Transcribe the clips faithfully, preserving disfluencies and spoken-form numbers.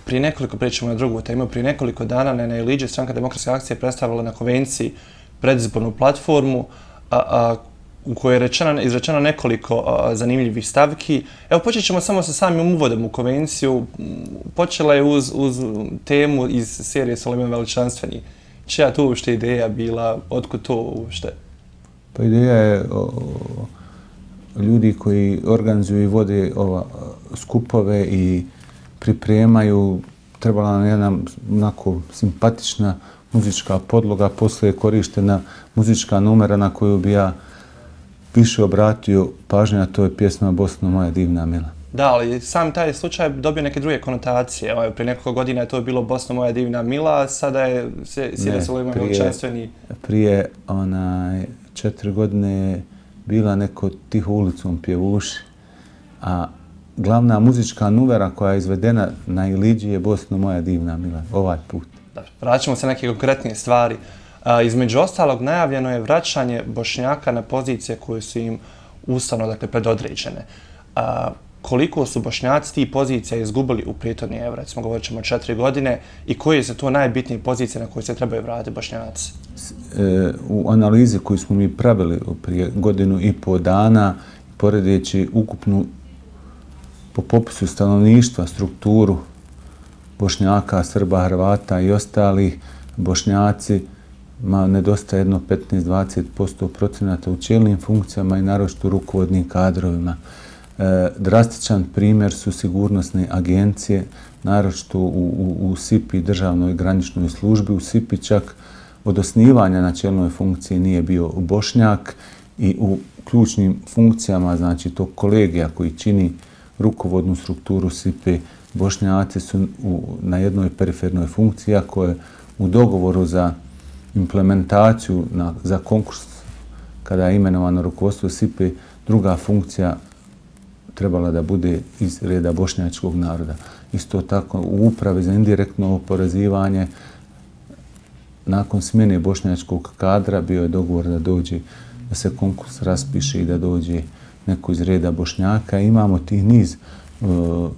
prije nekoliko, pričamo na drugu temu, prije nekoliko dana na Iliđi Stranka demokratske akcije predstavila na konvenciji predizbornu platformu a, a, u kojoj je rečeno, izrečeno nekoliko a, zanimljivih stavki. Evo, počet ćemo samo sa samim uvodom u konvenciju. Počela je uz, uz temu iz serije Sulejman Veličanstveni. Čija to uopšte ideja bila? Otkud to uopšte? Pa ideja je o, o, ljudi koji organizuju i vode ova, skupove i pripremaju. Trebala nam jedna onako simpatična muzička podloga, poslije je korištena muzička numera na koju bi ja više obratio pažnju, a to je pjesma Bosno moja divna mila. Da, ali sam taj slučaj dobio neke druge konotacije. Evo, prije nekoliko godina je to bilo Bosno moja divna mila, a sada je Sirija Sulejman Veličanstveni. Prije onaj, četiri godine je bila neko Tiho ulicom pjevuši, a glavna muzička numera koja je izvedena na Iliđi je Bosno moja divna mila, ovaj put. Vraćamo se na neke konkretnije stvari. A, između ostalog, najavljeno je vraćanje Bošnjaka na pozicije koje su im ustavno, dakle, predodređene. A, koliko su Bošnjaci tih pozicija izgubili u prijetodni evo, recimo govorit ćemo četiri godine, i koje su to najbitnije pozicije na koje se trebaju vratiti Bošnjaci? E, u analizi koju smo mi pravili prije godinu i pol dana, poredeći ukupnu po popisu stanovništva, strukturu Bošnjaka, Srba, Hrvata i ostalih, Bošnjaci ma nedostaje jedno petnaest do dvadeset posto procenata u čelnim funkcijama i naročito u rukovodnim kadrovima. E, drastičan primjer su sigurnosne agencije, naročito u, u, u S I P I, državnoj graničnoj službi. U S I P I čak od osnivanja na čelnoj funkciji nije bio Bošnjak i u ključnim funkcijama, znači tog kolegija koji čini rukovodnu strukturu S I P I, Bošnjaci su u, na jednoj perifernoj funkciji, ako je u dogovoru za implementaciju na, za konkurs, kada je imenovano rukovodstvo S I P I, druga funkcija trebala da bude iz reda bošnjačkog naroda. Isto tako u upravi za indirektno oporezivanje, nakon smjene bošnjačkog kadra bio je dogovor da dođe, da se konkurs raspiše i da dođe neko iz reda Bošnjaka. Imamo tih niz uh,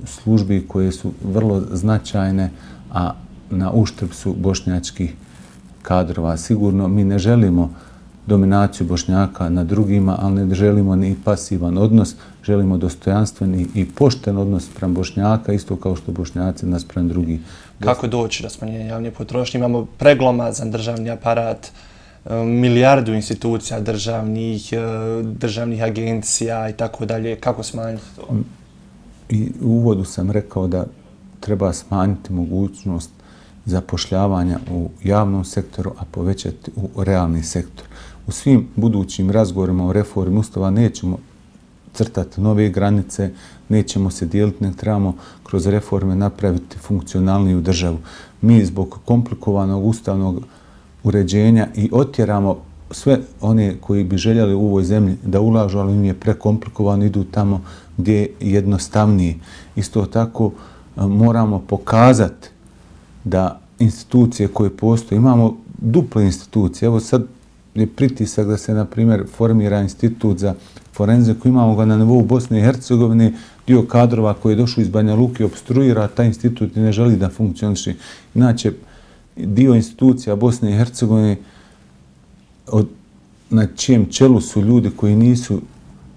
službi koje su vrlo značajne, a na uštrb su bošnjačkih kadrova. Sigurno mi ne želimo dominaciju Bošnjaka na drugima, ali ne želimo ni pasivan odnos, želimo dostojanstveni i pošten odnos prema Bošnjaka, isto kao što Bošnjaci nas prema drugih. Kako doći do smanjenja javne potrošnje? Imamo preglomazan državni aparat, milijardu institucija državnih, državnih agencija i tako dalje. Kako smanjiti to? I u uvodu sam rekao da treba smanjiti mogućnost zapošljavanja u javnom sektoru, a povećati u realni sektor. U svim budućim razgovorima o reformi Ustava nećemo crtati nove granice, nećemo se dijeliti, nek trebamo kroz reforme napraviti funkcionalniju državu. Mi zbog komplikovanog ustavnog uređenja i otjeramo sve one koji bi željeli u ovoj zemlji da ulažu, ali im je prekomplikovano, idu tamo gdje je jednostavnije. Isto tako moramo pokazati da institucije koje postoje, imamo duple institucije. Evo sad je pritisak da se, na primjer, formira institut za forenziku. Imamo ga na nivou Bosne i Hercegovine, dio kadrova koji je došao iz Banja Luke obstruira taj institut i ne želi da funkcioniše. Inače, dio institucija Bosne i Hercegovine od, na čijem čelu su ljudi koji nisu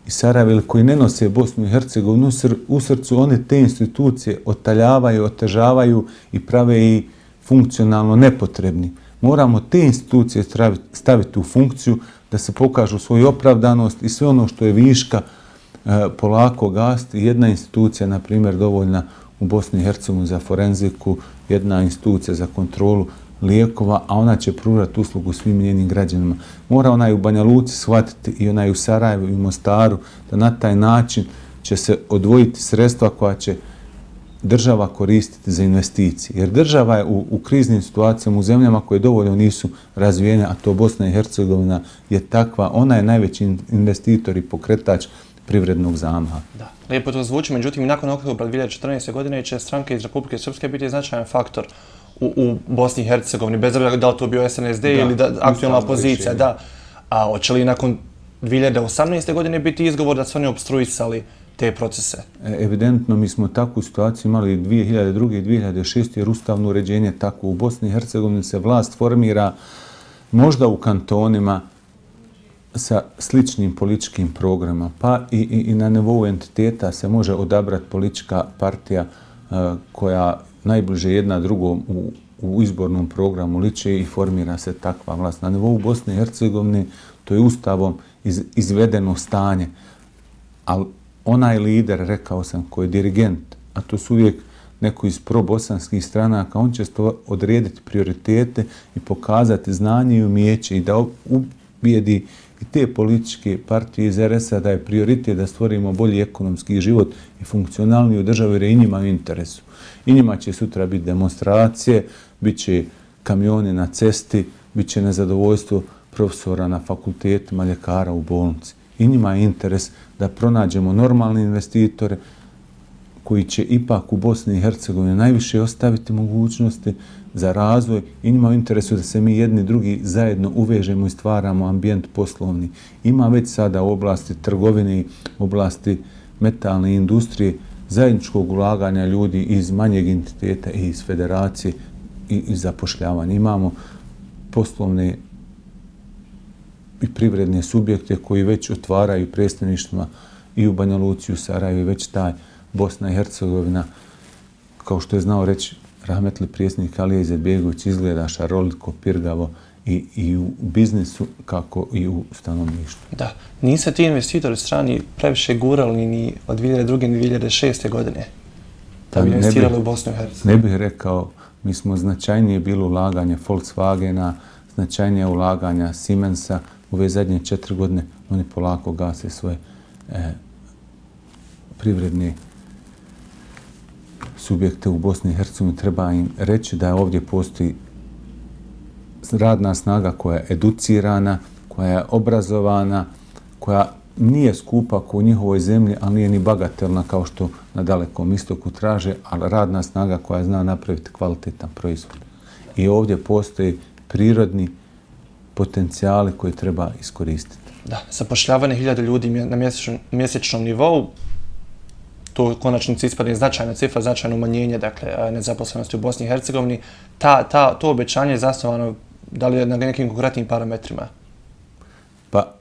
iz Sarajeva ili koji ne nose Bosnu i Hercegovinu u srcu, one te institucije otaljavaju, otežavaju i prave i funkcionalno nepotrebni. Moramo te institucije staviti u funkciju da se pokažu svoju opravdanost i sve ono što je viška polako gasti. Jedna institucija, na primjer, dovoljna u Bosni i Hercegovini za forenziku, jedna institucija za kontrolu lijekova, a ona će pružati uslugu svim njenim građanima. Mora onaj u Banja Luci shvatiti i onaj u Sarajevu i u Mostaru da na taj način će se odvojiti sredstva koja će država koristiti za investicije. Jer država je u, u kriznim situacijama, u zemljama koje dovoljno nisu razvijene, a to Bosna i Hercegovina je takva, ona je najveći investitor i pokretač privrednog zamaha. Da, lijepo to zvuči, međutim, nakon oktobra dvije tisuće četrnaeste. godine će stranke iz Republike Srpske biti značajan faktor u, u Bosni i Hercegovini, bez obzira da li to bio S N S D da, ili da, aktualna opozicija. Da. A hoće li nakon dvije hiljade osamnaeste. godine biti izgovor da su oni obstruisali te procese? Evidentno, mi smo takvu situaciju imali dvije hiljade druge i dvije hiljade šeste jer ustavno uređenje tako u Bosni i Hercegovini se vlast formira možda u kantonima sa sličnim političkim programima, pa i, i, i na nivou entiteta se može odabrati politička partija uh, koja najbliže jedna drugom u, u izbornom programu liče i formira se takva vlast. Na nivou Bosne i Hercegovine to je ustavom iz, izvedeno stanje, ali onaj lider, rekao sam, koji je dirigent, a to su uvijek neko iz probosanskih stranaka, on će odrediti prioritete i pokazati znanje i umijeće i da ubijedi i te političke partije iz er es a da je prioritet da stvorimo bolji ekonomski život i funkcionalniju državu jer je i njima u interesu. I njima će sutra biti demonstracije, bit će kamioni na cesti, bit će nezadovoljstvo profesora na fakultetima, ljekara u bolnici. I njima je interes da pronađemo normalne investitore koji će ipak u Bosni i Hercegovini najviše ostaviti mogućnosti za razvoj i njima u interesu da se mi jedni drugi zajedno uvežemo i stvaramo ambijent poslovni. Ima već sada u oblasti trgovine, u oblasti metalne industrije, zajedničkog ulaganja ljudi iz manjeg entiteta i iz federacije i iz zapošljavanja. Imamo poslovne i privredne subjekte koji već otvaraju predstavništvima i u Banja Luci, u Sarajevu i već taj Bosna i Hercegovina, kao što je znao reći rahmetli predsjednik Alija Izetbegović, izgleda šaroliko, pirgavo i, i u biznisu kako i u stanovništvu. Da, nisu ti investitori strani previše gurali ni od dvije hiljade druge ni dvije hiljade šeste godine da bi investirali u Bosnu i Hercegovinu. Ne bih rekao, mi smo značajnije bilo ulaganje Volkswagena, značajnije ulaganja Siemensa. U ove zadnje četiri godine oni polako gase svoje e, privredne subjekte u Bosni i Hercegovini. Treba im reći da ovdje postoji radna snaga koja je educirana, koja je obrazovana, koja nije skupa kao u njihovoj zemlji, ali nije ni bagatelna kao što na Dalekom istoku traže, ali radna snaga koja zna napraviti kvalitetan proizvod. I ovdje postoji prirodni potencijali koje treba iskoristiti. Da, zapošljavanje hiljada ljudi na mjesečnom, mjesečnom nivou, to u konačnici ispadne značajna cifra, značajno umanjenje, dakle, nezaposlenosti u Bosni i Hercegovini. Ta, ta, to obećanje je zasnovano da li je na nekim konkretnim parametrima? Pa,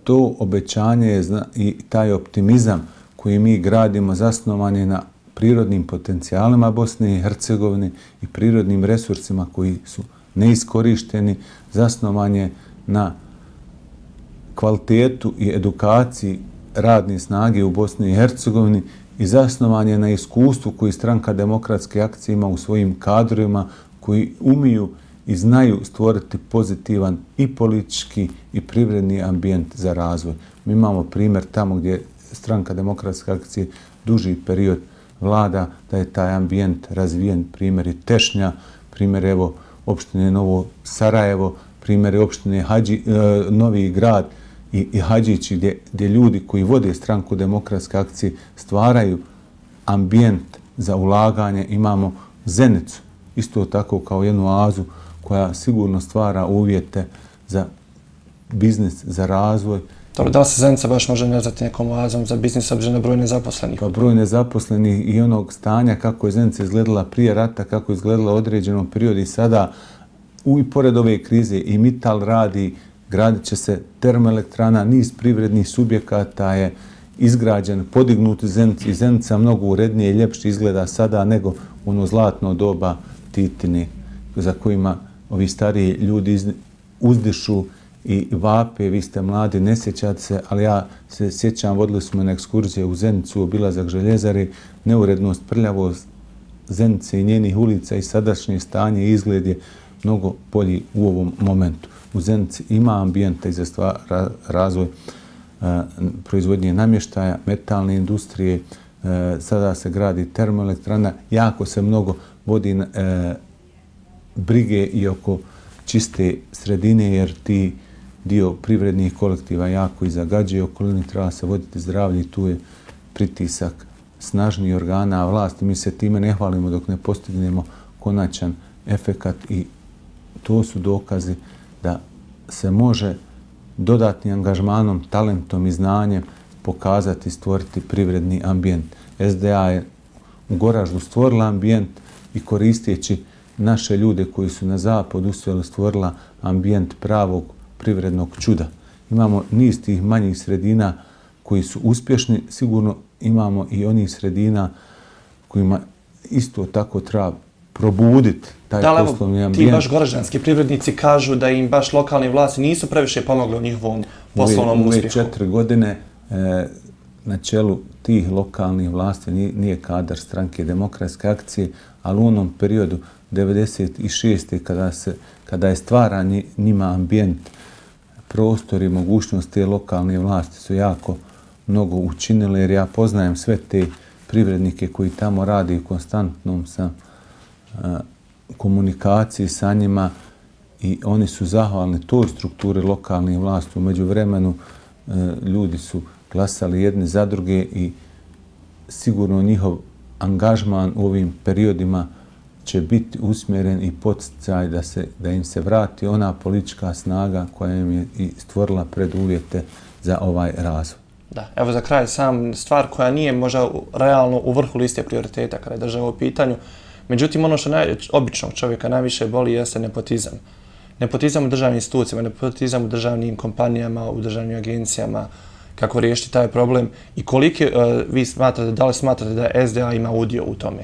to obećanje je i taj optimizam koji mi gradimo zasnovan je na prirodnim potencijalima Bosne i Hercegovine i prirodnim resursima koji su neiskorišteni, zasnovan je na kvalitetu i edukaciji radne snage u Bosni i Hercegovini i zasnovan je na iskustvu koji Stranka demokratske akcije ima u svojim kadrovima koji umiju i znaju stvoriti pozitivan i politički i privredni ambijent za razvoj. Mi imamo primjer tamo gdje Stranka demokratske akcije duži period vlada da je taj ambijent razvijen, primjer i Tešnja, primjer evo opštine Novo Sarajevo, primjer je opštine Hadži, e, Novi Grad i, i Hadžići gdje, gdje ljudi koji vode Stranku demokratske akcije stvaraju ambijent za ulaganje. Imamo Zenicu, isto tako kao jednu oazu koja sigurno stvara uvjete za biznis, za razvoj. Dobro, da li se Zenica baš može nazvati nekom oazom za biznis obzirom na broj nezaposlenih? Pa broj nezaposlenih i onog stanja kako je Zenica izgledala prije rata, kako je izgledala u određenom periodu i sada u, i pored ove krize i Mittal radi, gradit će se termoelektrana, niz privrednih subjekata je izgrađen, podignut u Zenici i Zenica mnogo urednije i ljepše izgleda sada nego ono zlatno doba Titine za kojima ovi stariji ljudi uzdišu i vape, vi ste mladi, ne sjećate se, ali ja se sjećam, vodili smo na ekskurzije u Zenicu, obilazak željezare, neurednost, prljavost Zenice i njenih ulica i sadašnje stanje i izgled je mnogo bolji u ovom momentu. U Zenici ima ambijenta i za stvar, razvoj e, proizvodnje namještaja, metalne industrije, e, sada se gradi termoelektrana, jako se mnogo vodi e, brige i oko čiste sredine, jer ti dio privrednih kolektiva jako i zagađuje okolini, treba se voditi zdravlje i tu je pritisak snažnijih organa vlasti. Mi se time ne hvalimo dok ne postignemo konačan efekat i to su dokazi da se može dodatnim angažmanom, talentom i znanjem pokazati, stvoriti privredni ambijent. S D A je u Goraždu stvorila ambijent i koristeći naše ljude koji su na zapadu uspjeli stvorila ambijent pravog privrednog čuda. Imamo niz tih manjih sredina koji su uspješni, sigurno imamo i onih sredina kojima isto tako treba probuditi taj da, poslovni ambijent. Ti baš goraždanski privrednici kažu da im baš lokalni vlasti nisu previše pomogli u njihovom poslovnom ove, uspjehu. Ove četiri godine e, na čelu tih lokalnih vlasti nije, nije kadar stranke Demokratske akcije, ali u onom periodu devedeset šeste kada, se, kada je stvaran njima ambijent, prostor i mogućnost te lokalne vlasti su jako mnogo učinile, jer ja poznajem sve te privrednike koji tamo radi i konstantnom sam a, komunikaciji sa njima i oni su zahvalni toj strukturi lokalnih vlasti. U međuvremenu a, ljudi su glasali jedni za druge i sigurno njihov angažman u ovim periodima će biti usmjeren i poticaj da, se, da im se vrati ona politička snaga koja im je i stvorila preduvjete za ovaj razvoj. Da, evo za kraj sam stvar koja nije možda realno u vrhu liste prioriteta kada je država u pitanju. Međutim, ono što naj, običnog čovjeka najviše boli jeste nepotizam. Nepotizam u državnim institucijama, nepotizam u državnim kompanijama, u državnim agencijama, kako riješiti taj problem i koliki uh, vi smatrate, da li smatrate da S D A ima udio u tome?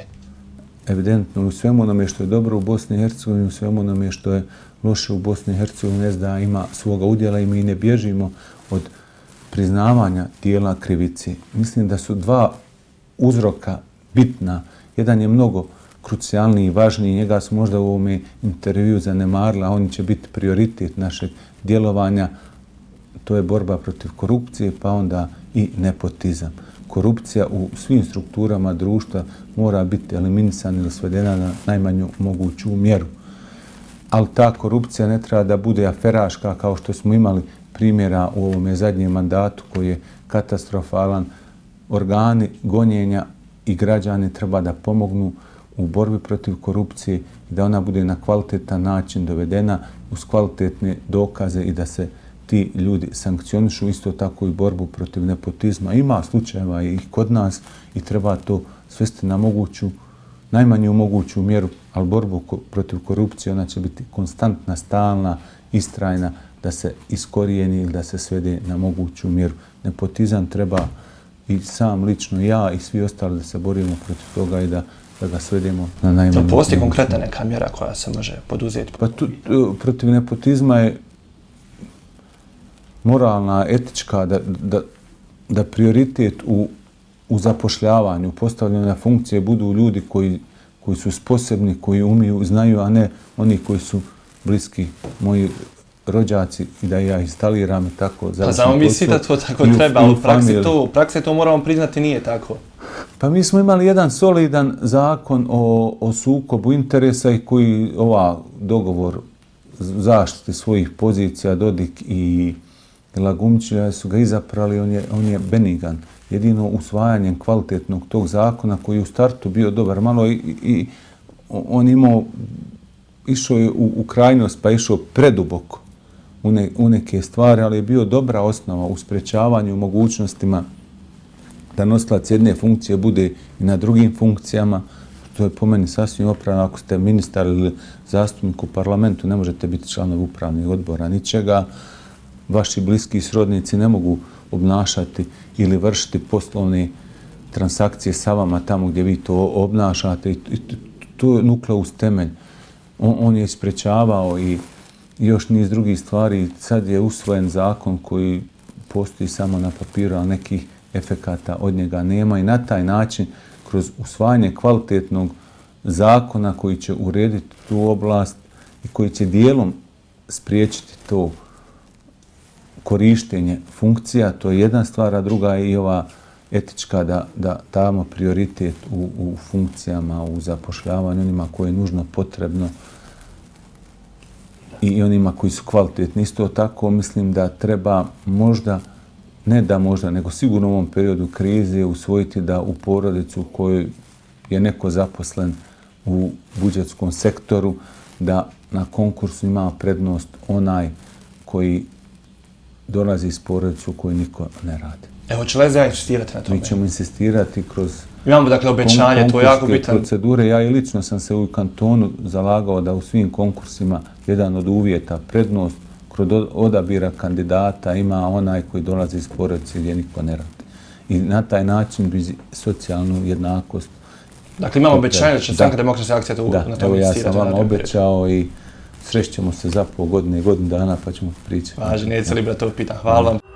Evidentno, u svemu onome što je dobro u Bosni i Hercegovini, u svemu onome što je loše u Bosni i Hercegovini, S D A ima svoga udjela i mi ne bježimo od priznavanja dijela krivice. Mislim da su dva uzroka bitna. Jedan je mnogo krucijalniji i važniji, njega su možda u ovome intervju zanemarila, a on će biti prioritet našeg djelovanja. To je borba protiv korupcije, pa onda i nepotizam. Korupcija u svim strukturama društva mora biti eliminisana ili svedena na najmanju moguću mjeru. Ali ta korupcija ne treba da bude aferaška kao što smo imali primjera u ovome zadnjem mandatu koji je katastrofalan. Organi gonjenja i građani treba da pomognu u borbi protiv korupcije i da ona bude na kvalitetan način dovedena uz kvalitetne dokaze i da se ti ljudi sankcionišu, isto tako i borbu protiv nepotizma. Ima slučajeva i kod nas i treba to svesti na moguću, najmanju moguću mjeru, ali borbu protiv korupcije ona će biti konstantna, stalna, istrajna, da se iskorijeni ili da se svede na moguću mjeru. Nepotizam treba i sam lično ja i svi ostali da se borimo protiv toga i da, da ga svedemo na najmanju moguću. Postoji konkretna neka mjera koja se može poduzeti? Pa tu, protiv nepotizma je moralna, etička, da, da, da prioritet u, u zapošljavanju, postavljanju na funkcije budu ljudi koji, koji su sposobni, koji umiju, znaju, a ne oni koji su bliski moji rođaci i da ja instaliram i tako. Pa znamo mi svi da to tako treba, ali u praksi to, u praksi to moramo priznati nije tako. Pa mi smo imali jedan solidan zakon o, o sukobu interesa i koji ova dogovor zaštite svojih pozicija, Dodik i Lagumčija su ga izaprali, on je, on je benigan. Jedino usvajanjem kvalitetnog tog zakona koji je u startu bio dobar malo i, i on imao, išao je u, u krajnost pa išao preduboko u, ne, u neke stvari, ali je bio dobra osnova u sprečavanju mogućnostima da nosilac jedne funkcije bude i na drugim funkcijama. To je po meni sasvim opravdano. Ako ste ministar ili zastupnik u parlamentu, ne možete biti članovi upravnih odbora ničega. Vaši bliski srodnici ne mogu obnašati ili vršiti poslovne transakcije sa vama tamo gdje vi to obnašate. I to je nukleus temelj. On, on je isprečavao i još niz drugih stvari. Sad je usvojen zakon koji postoji samo na papiru, a nekih efekata od njega nema i na taj način kroz usvajanje kvalitetnog zakona koji će urediti tu oblast i koji će dijelom spriječiti to korištenje funkcija, to je jedna stvar, a druga je i ova etička da, da damo prioritet u, u funkcijama, u zapošljavanju, onima koje je nužno potrebno i onima koji su kvalitetni. Isto tako mislim da treba možda, ne da možda, nego sigurno u ovom periodu krize usvojiti da u porodicu u kojoj je neko zaposlen u budžetskom sektoru, da na konkursu ima prednost onaj koji dolazi iz porodice u kojoj niko ne radi. Evo, će Lezija insistirati na tome? Mi ćemo insistirati kroz Imamo dakle obećanje, to je jako bitan. Procedure. Ja i lično sam se u kantonu zalagao da u svim konkursima jedan od uvjeta, prednost kroz odabira kandidata ima onaj koji dolazi iz porodice gdje niko ne radi. I na taj način bi socijalnu jednakost. Dakle, imamo obećanje da će Stranka demokratske akcije to da, na tome insistirati. Da, evo ja sam vam obećao i srećemo se za pol godine i godinu dana pa ćemo pričati. Važi, neće li brate ovo pitan. Hvala vam.